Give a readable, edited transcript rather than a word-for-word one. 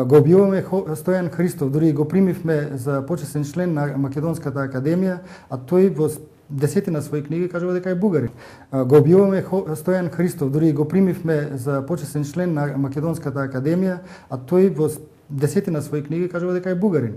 Го објавуваме Стојан Христов, дури го примивме за почесен член на Македонската академија, а тој во десетина своји книги кажува дека е бугарин. Го објавуваме Стојан Христов, дури го примивме за почесен член на Македонската академија, а тој во десетина своји книги кажува дека е бугарин.